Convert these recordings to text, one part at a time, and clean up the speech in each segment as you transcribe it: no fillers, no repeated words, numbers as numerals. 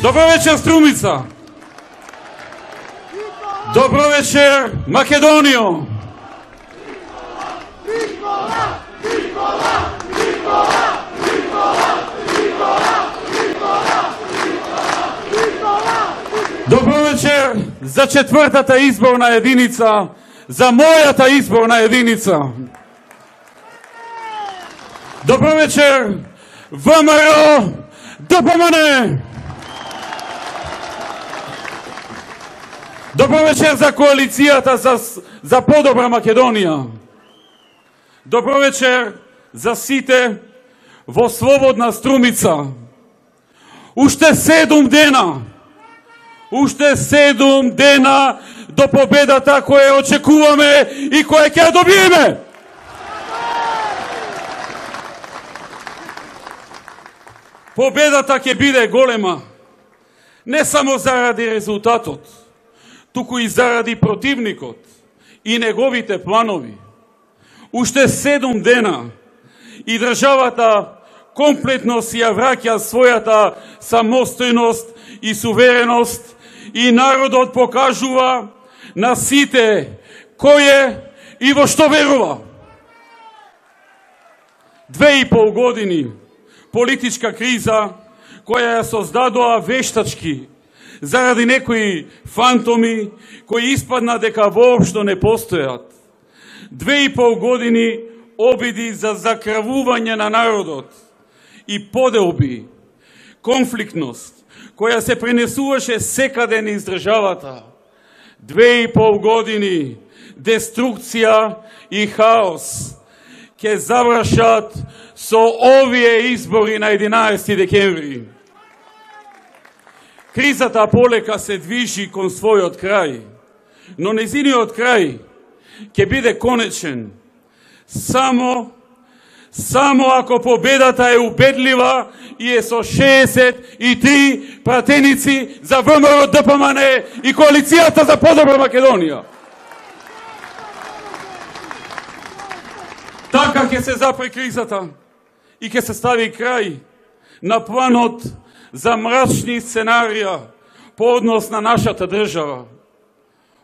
Добро вечер, Струмица! Добро вечер, Македонијо! Добро вечер за четвртата изборна единица, за мојата изборна единица. Добро вечер, ВМРО ДПМН! Добро вечер за коалицијата за подобра Македонија. Добро вечер за сите во слободна Струмица. Уште 7 дена. Уште 7 дена до победата која очекуваме и која ќе ја добиеме. Победата ќе биде голема, не само заради резултатот, туку и заради противникот и неговите планови. Уште 7 дена и државата комплетно си ја враќа својата самостојност и сувереност и народот покажува на сите кој е и во што верува. 2,5 години политичка криза која ја создадоа вештачки заради некои фантоми кои испадна дека воопшто не постојат. 2,5 години обиди за закравување на народот и поделби, конфликтност која се пренесуваше секаде низ државата. 2,5 години деструкција и хаос ќе завршат со овие избори на 11 декември. Кризата полека се движи кон својот крај, но незиниот крај ќе биде конечен само ако победата е убедлива и е со 63 пратеници за ВМРО ДПМН и коалицијата за подобра Македонија. Така ќе се запре кризата и ќе се стави крај на планот за мрачни сценарија по однос на нашата држава.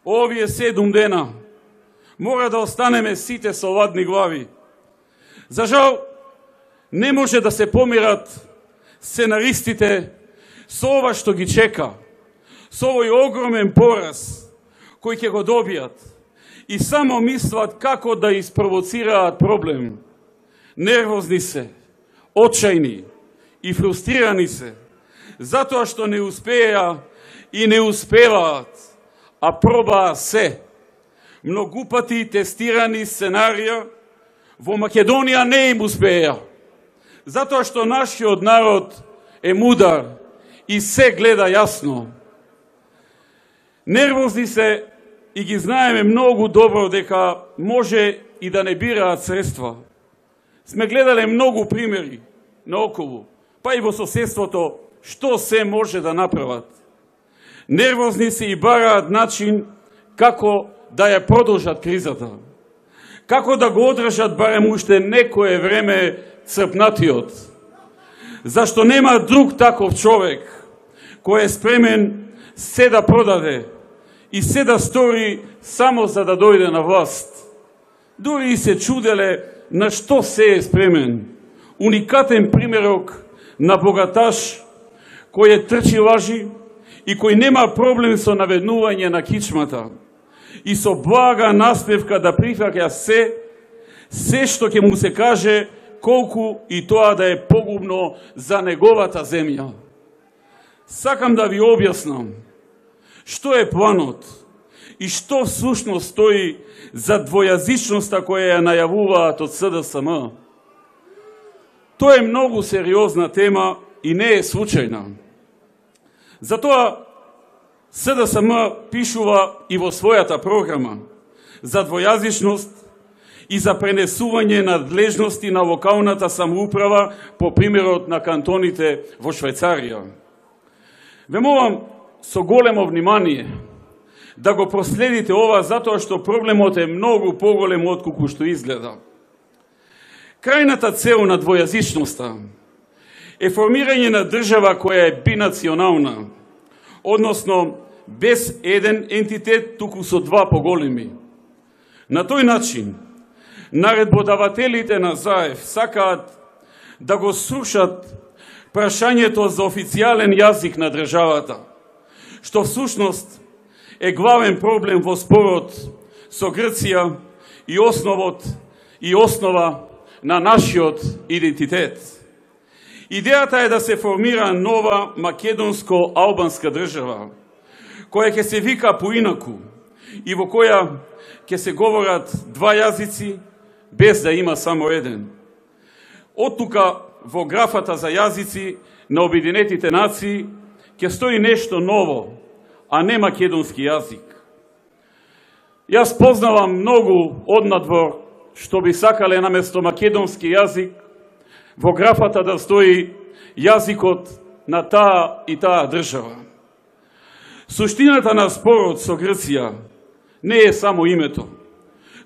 Овие 7 дена мора да останеме сите со ладни глави. За жал, не може да се помират сценаристите со ова што ги чека, со овој огромен пораз кој ќе го добијат и само мислат како да испровоцираат проблем. Нервозни се, очајни и фрустрирани се, затоа што не успеа и не успеваат, а пробаа се. Многу пати тестирани сценарија во Македонија не им успеа, затоа што нашиот народ е мудар и се гледа јасно. Нервозни се и ги знаеме многу добро дека може и да не бираат средства. Сме гледале многу примери наоколу, па и во соседството, што се може да направат. Нервозни се и бараат начин како да ја продолжат кризата. Како да го одржат барем уште некое време црпнатиот. Зашто нема друг таков човек кој е спремен се да продаде и се да стори само за да дојде на власт. Дури и се чуделе на што се е спремен. Уникатен примерок на богаташ кој е трчи лажи и кој нема проблем со наведнување на кичмата и со блага наспевка да прифаќа се што ќе му се каже, колку и тоа да е погубно за неговата земја. Сакам да ви објаснам што е планот и што всушност стои за двојазичноста која ја најавуваат од СДСМ. Тоа е многу сериозна тема и не е случајна. Затоа СДСМ пишува и во својата програма за двојазичност и за пренесување надлежности на локалната самоуправа по примерот на кантоните во Швајцарија. Ве молам со големо внимание да го проследите ова, затоа што проблемот е многу поголем отколку што изгледа. Крајната цел на двојазичноста е формирање на држава која е бинационална, односно без еден ентитет, туку со два поголеми. На тој начин, наредбодавателите на ЗАЕВ сакаат да го срушат прашањето за официјален јазик на државата, што всушност е главен проблем во спорот со Грција и основа на нашиот идентитет. Идејата е да се формира нова македонско-албанска држава, која ќе се вика поинаку и во која ќе се говорат два јазици, без да има само еден. Оттука во графата за јазици на Обединетите нации ќе стои нешто ново, а не македонски јазик. Јас познавам многу однадвор што би сакале наместо македонски јазик во графата да стои јазикот на таа и таа држава. Суштината на спорот со Грција не е само името,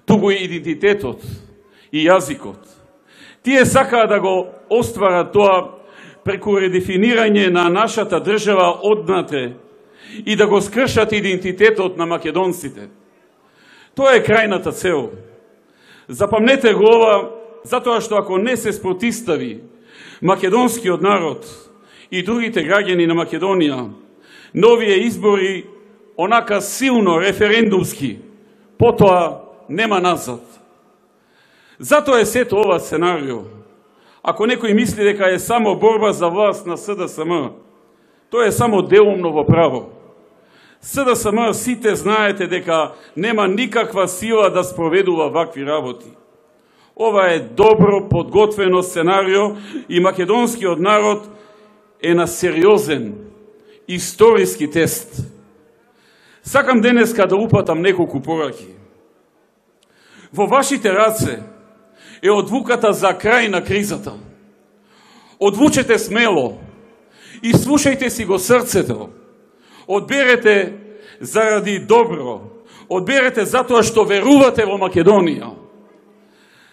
туку и идентитетот и јазикот. Тие сакаат да го остварат тоа преку редефинирање на нашата држава однатре и да го скршат идентитетот на македонците. Тоа е крајната цел. Запамнете го ова, затоа што ако не се спротистави македонскиот народ и другите граѓани на Македонија, новие избори онака силно референдумски, потоа нема назад. Затоа е сето ова сценарио. Ако некој мисли дека е само борба за власт на СДСМ, тоа е само делумно во право. СДСМ сите знаете дека нема никаква сила да спроведува вакви работи. Ова е добро подготвено сценарио и македонскиот народ е на сериозен историски тест. Сакам денеска да упатам неколку пораки. Во вашите раце е одлуката за крај на кризата. Одлучете смело и слушајте си го срцето. Одберете заради добро. Одберете затоа што верувате во Македонија.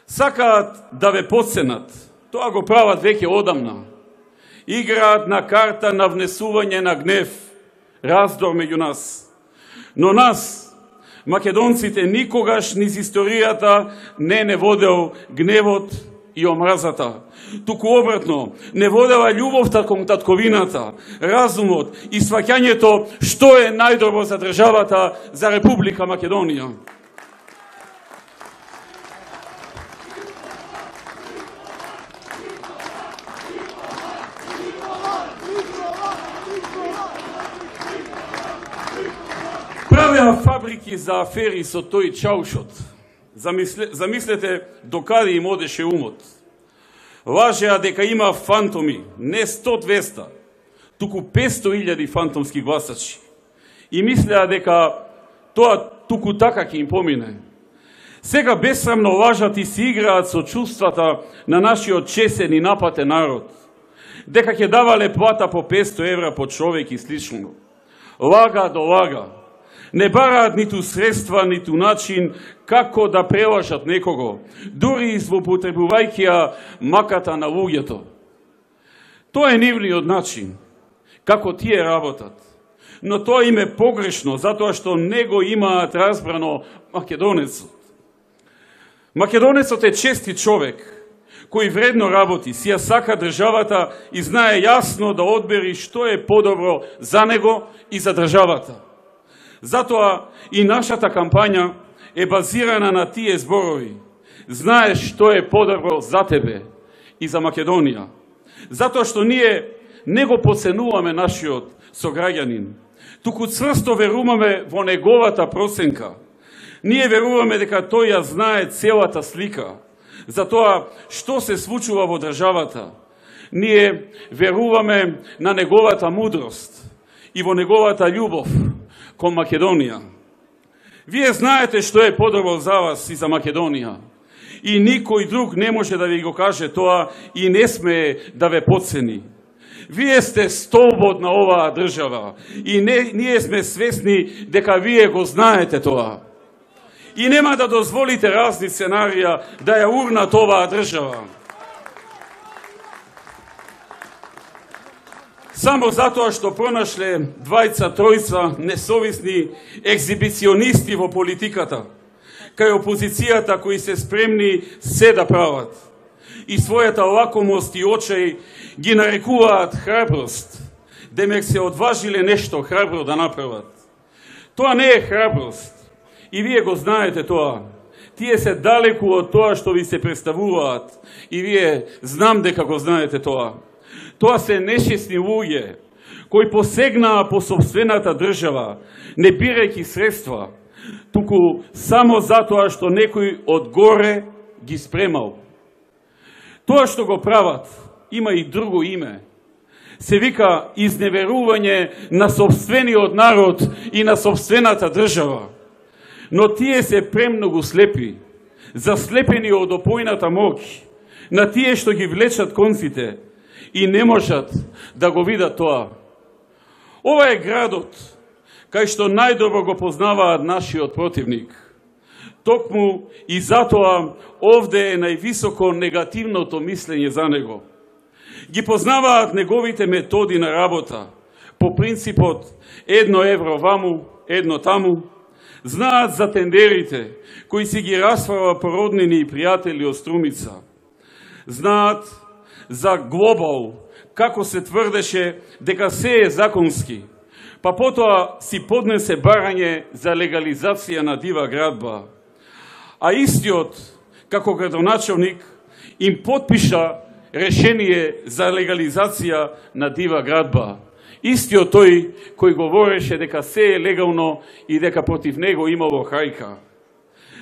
Сакаат да ве подсенат. Тоа го прават веќе одамна. Играат на карта на внесување на гнев, раздор меѓу нас. Но нас, македонците, никогаш низ историјата не водел гневот и омразата. Туку обратно, не водела љубовта кон татковината, разумот и сваќањето што е најдобро за државата, за Република Македонија. Правеа фабрики за афери со тој чаушот. Замислете докаде им одеше умот. Лажеа дека има фантоми, не 100-200, туку 500.000 фантомски гласачи. И мислеа дека тоа туку така ќе им помине. Сега бесрамно лажат и си играат со чувствата на нашиот чесен и напатен народ. Дека ќе давале плата по 500 евра по човек и слично. Лага до лага. Не бараат ниту средства, ниту начин како да прелажат некого, дури злоупотребувајќи ја маката на луѓето. Тоа е нивниот начин, како тие работат. Но тоа им е погрешно, затоа што не го имаат разбрано македонецот. Македонецот е честит човек, кој вредно работи, си ја сака државата и знае јасно да одбери што е подобро за него и за државата. Затоа и нашата кампања е базирана на тие зборови. Знаеш што е подобро за тебе и за Македонија. Затоа што ние не го поценуваме нашиот сограѓанин, туку цврсто веруваме во неговата проценка. Ние веруваме дека тој ја знае целата слика за тоа што се случува во државата, Ние веруваме на неговата мудрост и во неговата љубов кон Македонија. Вие знаете што е подобро за вас и за Македонија. И никој друг не може да ви го каже тоа и не сме да ве подцени. Вие сте столбот на оваа држава и ние сме свесни дека вие го знаете тоа. И нема да дозволите разни сценарија да ја урнат оваа држава. Само затоа што пронашле двајца-тројца несовисни екзибиционисти во политиката, кај опозицијата кои се спремни се да прават и својата лакомост и очај ги нарекуваат храброст, демек се одважиле нешто храбро да направат. Тоа не е храброст и вие го знаете тоа. Тие се далеку од тоа што ви се представуваат и вие знам дека го знаете тоа. Тоа се нешесни луѓе кои посегнаа по собствената држава, не бирајќи средства, туку само затоа што некој од горе ги спремал. Тоа што го прават има и друго име. Се вика изневерување на собствениот народ и на собствената држава. Но тие се премногу слепи, заслепени од опојната моќ, на тие што ги влечат конците и не можат да го видат тоа. Ова е градот кај што најдобро го познаваат нашиот противник. Токму и затоа овде е највисоко негативното мислење за него. Ги познаваат неговите методи на работа, по принципот 1 евро ваму, 1 таму. Знаат за тендерите, кои си ги расфрава породнини и пријатели од Струмица. Знаат за глобал, како се тврдеше дека се е законски, па потоа си поднесе барање за легализација на дива градба. А истиот, како градоначалник, им подпиша решение за легализација на дива градба. Истиот тој кој говореше дека се е легално и дека против него имало хајка.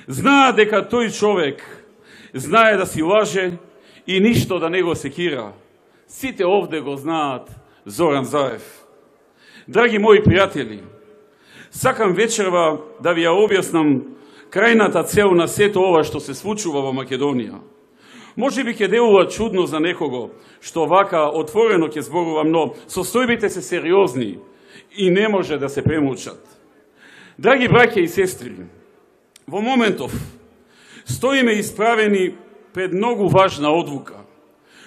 Знаа дека тој човек знае да си лаже и ништо да не го секира. Сите овде го знаат Зоран Заев. Драги мои пријатели, сакам вечерва да ви ја објаснам крајната цел на сето ова што се случува во Македонија. Може би ќе делува чудно за некого што вака отворено ќе зборувам, но состојбите се сериозни и не може да се премолчат. Драги браќа и сестри, во моментов стоиме исправени пред многу важна одлука,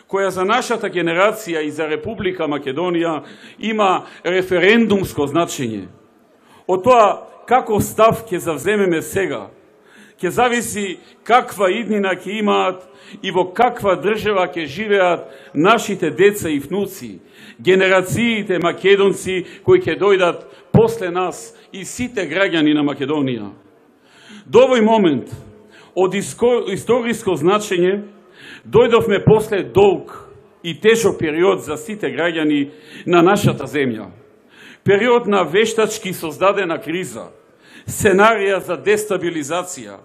која за нашата генерација и за Република Македонија има референдумско значење. Од тоа каков став ќе завземеме сега, ќе зависи каква иднина ќе имаат и во каква држава ќе живеат нашите деца и внуци, генерациите македонци кои ќе дојдат после нас и сите граѓани на Македонија. До овој момент, од историско значење, дојдовме после долг и тежок период за сите граѓани на нашата земја. Период на вештачки создадена криза, сценарија за дестабилизација,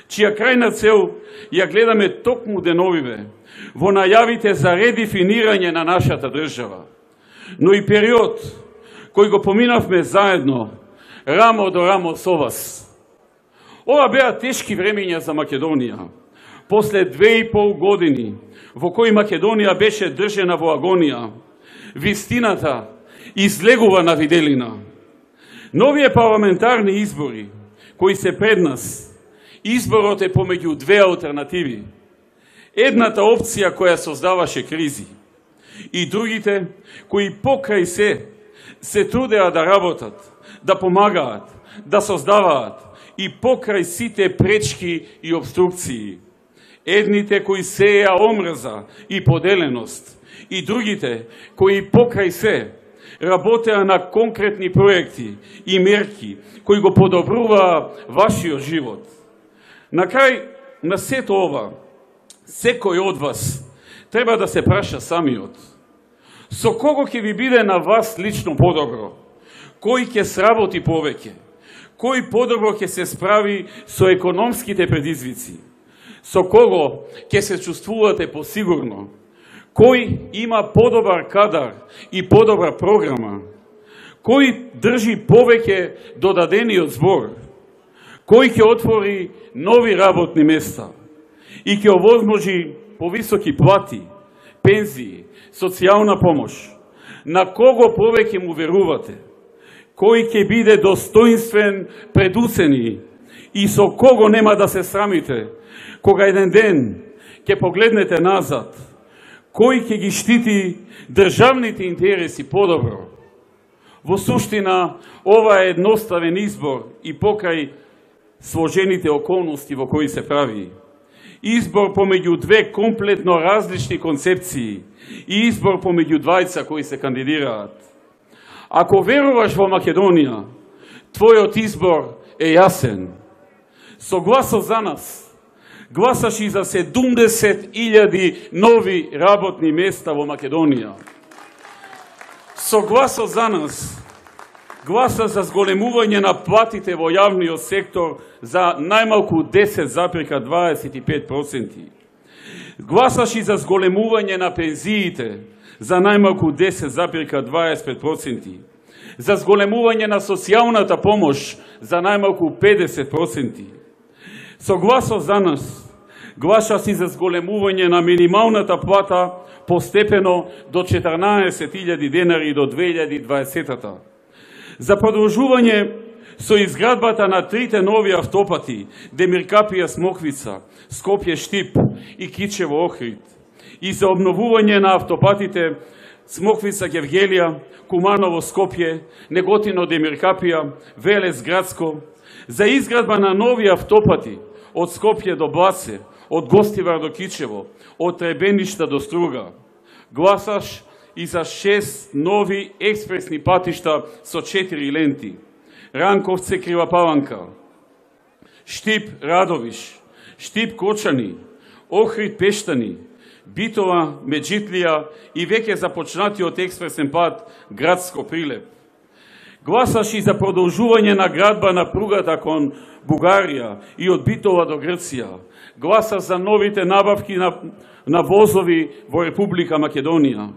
чија крајна цел ја гледаме токму деновиве во најавите за редефинирање на нашата држава. Но и период кој го поминавме заедно, рамо до рамо со вас. Ова беа тешки времења за Македонија. После 2,5 години во кои Македонија беше држена во агонија, вистината излегува на виделина. Новие парламентарни избори кои се пред нас, изборот е помеѓу две алтернативи. Едната опција која создаваше кризи и другите кои покрај се трудеа да работат, да помагаат, да создаваат и покрај сите пречки и обструкции. Едните кои сеја омрза и поделеност и другите кои покрај се работеа на конкретни проекти и мерки кои го подобруваа вашиот живот. На крај на сето ова, секој од вас треба да се праша самиот. Со кого ќе ви биде на вас лично подобро? Кој ќе сработи повеќе? Кој подобро ќе се справи со економските предизвици? Со кого ќе се чувствувате посигурно? кој има подобар кадар и подобра програма, кој држи повеќе додадениот збор, кој ќе отвори нови работни места и ќе овозможи повисоки плати, пензии, социјална помош. На кого повеќе му верувате? Кој ќе биде достоинствен пред уцени и со кого нема да се срамите, кога еден ден ќе погледнете назад? Кој ќе ги штити државните интереси подобро? Во суштина, ова е едноставен избор и покрај сложените околности во кои се прави. Избор помеѓу две комплетно различни концепции и избор помеѓу двајца кои се кандидираат. Ако веруваш во Македонија, твојот избор е јасен. Со гласов за нас, гласаш и за 70.000 нови работни места во Македонија. Со гласов за нас, гласа за зголемување на платите во јавниот сектор за најмалку 10,25%. Гласаш и за зголемување на пензиите за најмалку 10,25%. За зголемување на социјалната помош за најмалку 50%. Со гласов за нас, гласаш и за зголемување на минималната плата постепено до 14.000 денари до 2020-та. За продолжување со изградбата на трите нови автопати Демиркапија Смоквица, Скопје Штип и Кичево Охрид, и за обновување на автопатите Смоквица Гевгелија, Куманово Скопје, Неготино Демиркапија, Велес Градско, за изградба на нови автопати од Скопје до Бласе, од Гостивар до Кичево, од Требеништа до Струга. Гласаш и за 6 нови експресни патишта со 4 ленти. Ранковце Кривапаланка, Штип Радовиш, Штип Кочани, Охрид Пештани, Битова Меджитлија и веќе започнатиот експресен пат Градско Прилеп. Гласаш и за продолжување на градба на пругата кон Бугарија и од Битова до Грција. Гласаш за новите набавки на возови во Република Македонија.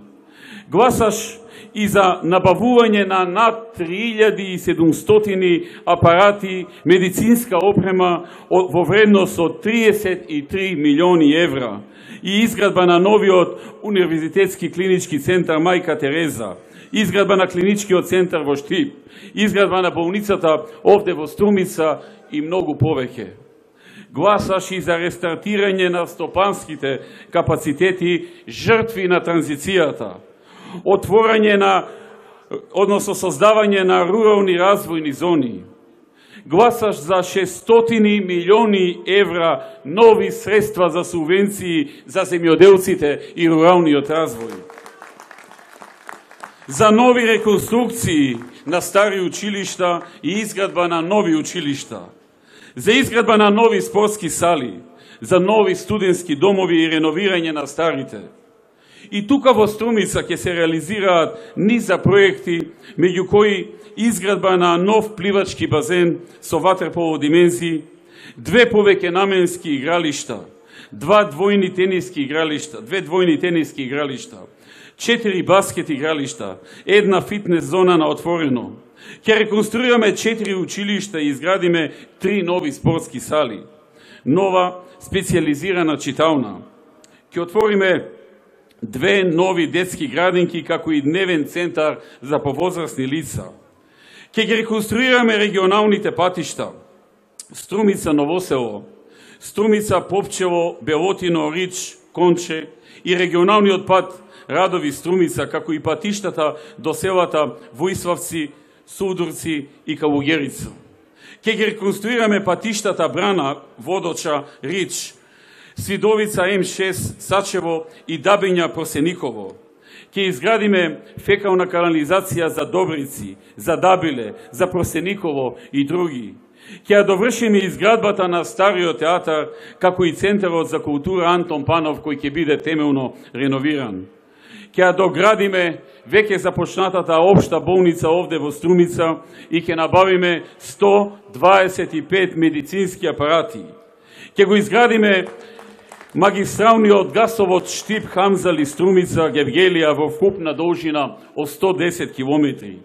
Гласаш и за набавување на над 3700 апарати медицинска опрема во вредност од 33 милиони евра и изградба на новиот универзитетски клинички центар Мајка Тереза, изградба на клиничкиот центар во Штип, изградба на болницата овде во Струмица и многу повеќе. Гласаш и за рестартирање на стопанските капацитети жртви на транзицијата, отворање на, односно создавање на рурални развојни зони. Гласаш за 600 милиони евра нови средства за субвенции за земјоделците и руралниот развој. За нови реконструкции на стари училишта и изградба на нови училишта. За изградба на нови спортски сали, за нови студентски домови и реновирање на старите. И тука во Струмица ќе се реализираат низа проекти, меѓу кои изградба на нов пливачки базен со ватерполо димензии, 2 повеќе наменски игралишта, 2 двојни тениски игралишта, 4 баскет игралишта, 1 фитнес зона на отворено. Ќе реконструираме 4 училишта и изградиме 3 нови спортски сали, нова специјализирана читална. Ќе отвориме 2 нови детски градинки, како и дневен центар за повозрасни лица. Ќе ги реконструираме регионалните патишта Струмица Новосело, Струмица Попчево, Белотино, Рич, Конче и регионалниот пат Радови Струмица, како и патиштата до селата Воиславци, Судурци и Калугерица. Ќе ги реконструираме патиштата Брана, Водоча, Рич, Свидовица М6, Сачево и Дабиња Просениково. Ќе изградиме фекална канализација за Добрици, за Дабиле, за Просениково и други. Ќе ја довршиме изградбата на стариот театар, како и Центарот за култура Антон Панов, кој ќе биде темелно реновиран. Ќе ја доградиме веќе започнатата општа болница овде во Струмица и ќе набавиме 125 медицински апарати. Ќе го изградиме магистралниот гасовод Штип Хамзали Струмица Гевгелија во вкупна должина од 110 километри.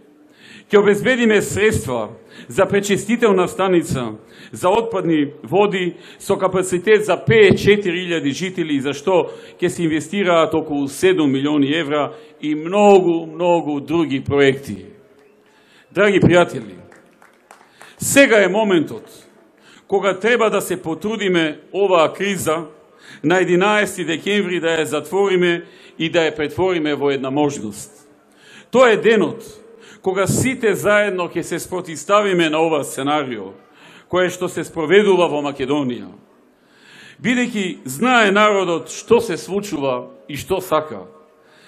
Ќе обезбедиме средства за пречистителна станица за отпадни води со капацитет за 54.000 жители, за што ќе се инвестираат околу 7 милиони евра и многу други проекти. Драги пријатели, сега е моментот кога треба да се потрудиме оваа криза на 11 декември да ја затвориме и да ја претвориме во една можност. Тоа е денот кога сите заедно ќе се спротивставиме на ова сценарио, кое што се спроведува во Македонија. Бидејќи знае народот што се случува и што сака.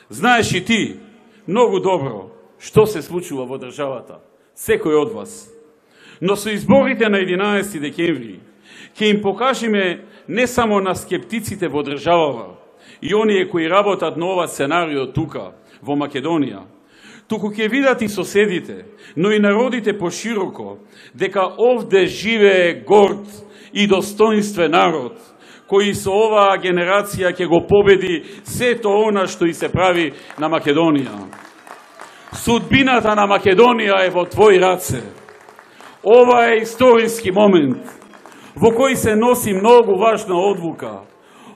Знаеш и ти многу добро што се случува во државата, секој од вас. Но со изборите на 11 декември ќе им покажеме не само на скептиците во државава и оние кои работат на ова сценарио тука, во Македонија, туку ќе видат и соседите, но и народите пошироко, дека овде живее горд и достоинствен народ, кој со оваа генерација ќе го победи сето она што и се прави на Македонија. Судбината на Македонија е во твои раце. Ова е историски момент во кој се носи многу важна одлука.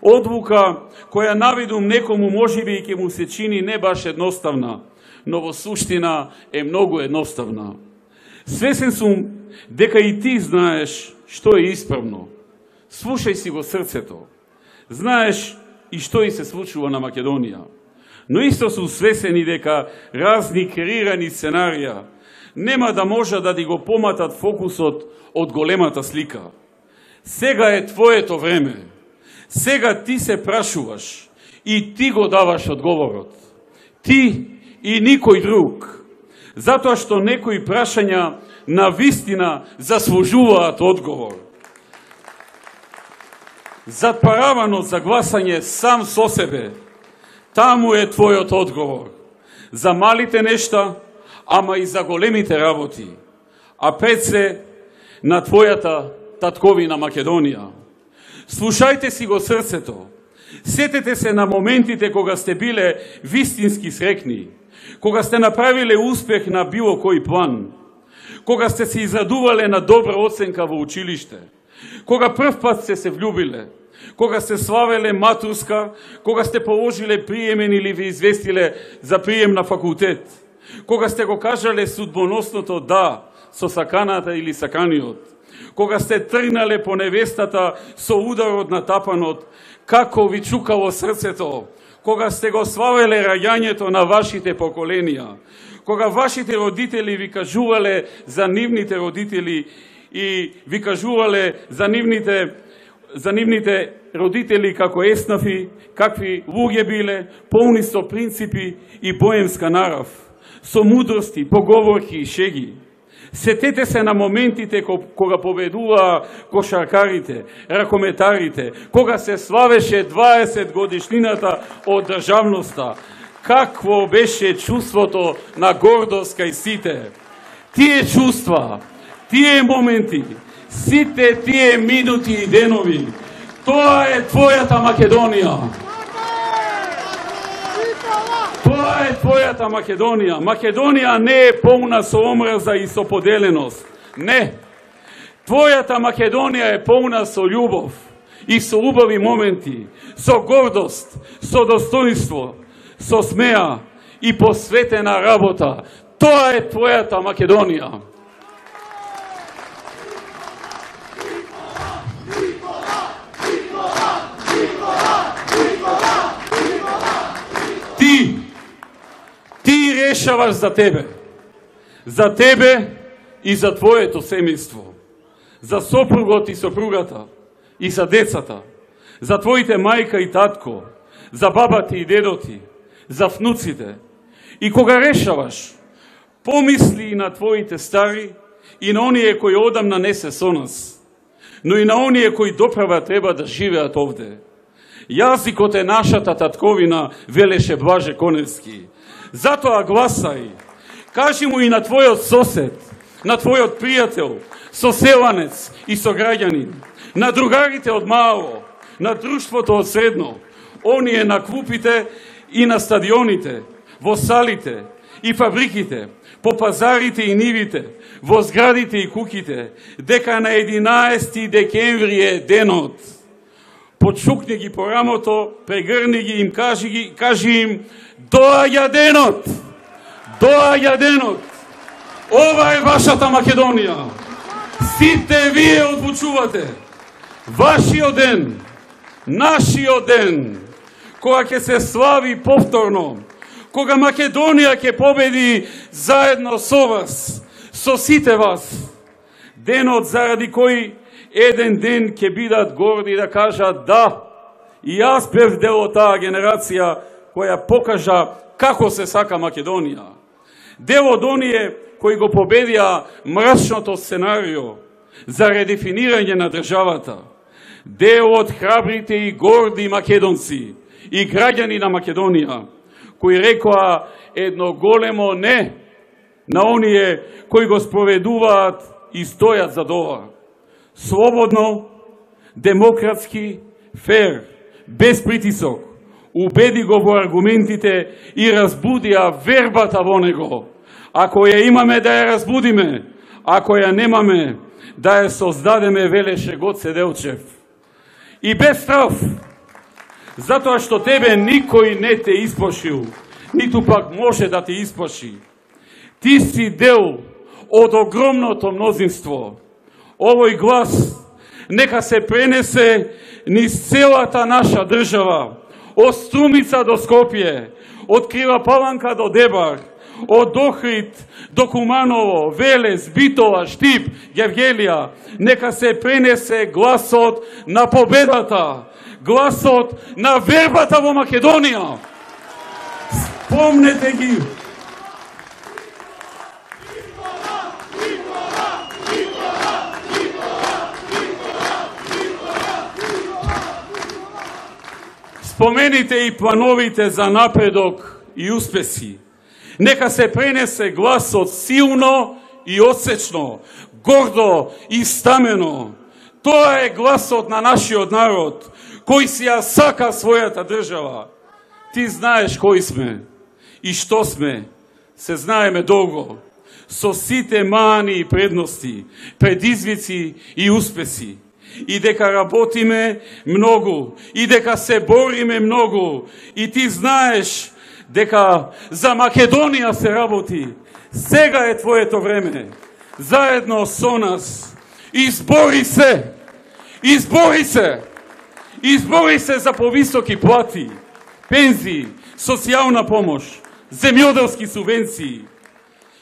Одлука која навидум некому можеби и ќе му се чини не баш едноставна, но во суштина е многу едноставна. Свесен сум дека и ти знаеш што е исправно. Слушај си го срцето. Знаеш и што и се случува на Македонија. Но исто сум свесен и дека разни креирани сценарија нема да може да ти го поматат фокусот од големата слика. Сега е твоето време. Сега ти се прашуваш и ти го даваш одговорот. Ти и никој друг. Затоа што некои прашања на вистина заслужуваат одговор. Затпаравано за гласање сам со себе, таму е твојот одговор. За малите нешта, ама и за големите работи, а пред се на твојата татковина Македонија. Слушајте си го срцето. Сетете се на моментите кога сте биле вистински срекни, кога сте направиле успех на било кој план, кога сте се израдувале на добра оценка во училиште, кога прв пат сте се влюбиле, кога сте славеле матурска, кога сте положиле приемен или ви известиле за прием на факултет, кога сте го кажале судбоносното да со саканата или саканиот, кога сте тргнале по невестата со ударот на тапанот, како ви чукало срцето, кога сте го славеле раѓањето на вашите поколенија, кога вашите родители ви кажувале за нивните родители и ви кажувале за нивните родители како еснафи, какви луѓе биле, полни со принципи и боемска нарав, со мудрости, поговорки и шеги. Сетете се на моментите кога победуваа кошаркарите, ракометарите, кога се славеше 20 годишнината од државноста. Какво беше чувството на гордост кај сите? Тие чувства, тие моменти, сите тие минути и денови, тоа е твојата Македонија. Тоа е твојата Македонија. Македонија не е полна со омраза и со поделеност. Не. Твојата Македонија е полна со љубов и со убави моменти, со гордост, со достоинство, со смеа и посветена работа. Тоа е твојата Македонија. Ти решаваш за тебе и за твоето семејство, за сопругот и сопругата и за децата, за твоите мајка и татко, за бабати и дедоти, за внуците. И кога решаваш, помисли и на твоите стари и на оние кои одамна не се со нас, но и на оние кои доправа треба да живеат овде. Јазикот е нашата татковина, велеше Блаже Коневски. Затоа гласај. Кажи му и на твојот сосед, на твојот пријател, соселанец и сограѓанин, на другарите од мало, на друштвото од средно, оние на клупите и на стадионите, во салите и фабриките, по пазарите и нивите, во зградите и куќите, дека на 11 декември е денот. Почукни ги по рамото, прегрни ги им, кажи им, доаѓа денот! Доаѓа денот! Ова е вашата Македонија! Сите вие одлучувате! Вашиот ден, нашиот ден, кога ќе се слави повторно, кога Македонија ќе победи заедно со вас, со сите вас, денот заради кој еден ден ќе бидат горди да кажат да, и јас бев дел од таа генерација која покажа како се сака Македонија. Дел од оние кои го победија мрачното сценарио за редефинирање на државата. Дел од храбрите и горди македонци и граѓани на Македонија, кои рекоа едно големо не на оние кои го спроведуваат и стојат за ова. Слободно, демократски, фер, без притисок, убеди го во аргументите и разбудија вербата во него. Ако ја имаме да ја разбудиме, ако ја немаме да ја создадеме, велеше Гоце Делчев. И без страв, затоа што тебе никој не те исплашил, ниту пак може да те исплаши. Ти си дел од огромното мнозинство. Овој глас нека се пренесе низ целата наша држава, од Струмица до Скопје, од Крива Паланка до Дебар, од Охрид до Куманово, Велес, Битола, Штип, Гевгелија. Нека се пренесе гласот на победата, гласот на вербата во Македонија. Спомнете ги. Спомените и плановите за напредок и успеси. Нека се пренесе гласот силно и осечно, гордо и стамено. Тоа е гласот на нашиот народ, кој си ја сака својата држава. Ти знаеш кои сме и што сме, се знаеме долго, со сите мани и предности, предизвици и успеси. И дека работиме многу, и дека се бориме многу, и ти знаеш дека за Македонија се работи. Сега е твоето време. Заедно со нас. Избори се! Избори се! Избори се за повисоки плати, пензии, социјална помош, земјоделски субвенции.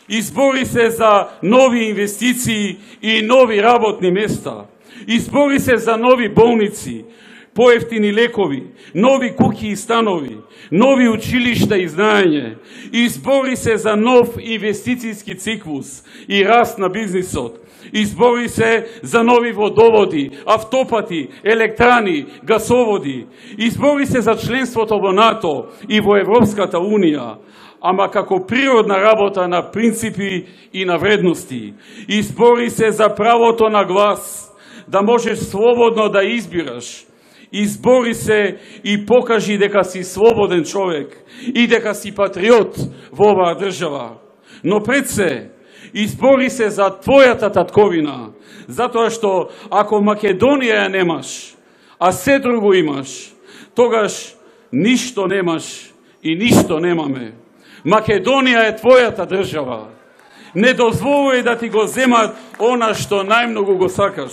Избори се за нови инвестиции и нови работни места. Избори се за нови болници, поевтини лекови, нови куќи и станови, нови училишта и знаење. Избори се за нов инвестицијски циклус и раст на бизнисот. Избори се за нови водоводи, автопати, електрани, гасоводи. Избори се за членството во НАТО и во Европската Унија, ама како природна работа на принципи и на вредности. Избори се за правото на глас, да можеш слободно да избираш. Избори се и покажи дека си слободен човек и дека си патриот во оваа држава. Но пред се, избори се за твојата татковина, затоа што ако Македонија ја немаш, а се друго имаш, тогаш ништо немаш и ништо немаме. Македонија е твојата држава. Не дозволувај да ти го земат она што најмногу го сакаш.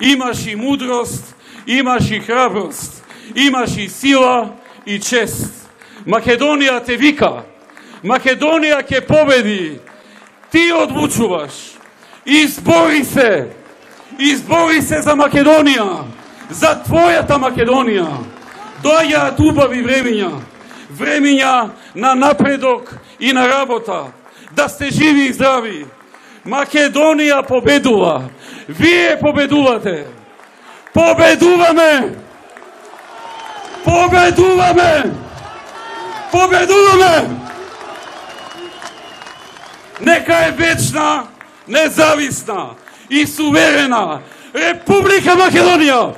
Имаш и мудрост, имаш и храброст, имаш и сила и чест. Македонија те вика, Македонија ќе победи. Ти одлучуваш. Избори се за Македонија, за твојата Македонија. Доаѓаат убави времиња на напредок и на работа. Да сте живи и здрави. Македонија победува. Вие победувате. Победуваме! Победуваме! Победуваме! Нека е вечна, независна и суверена Република Македонија!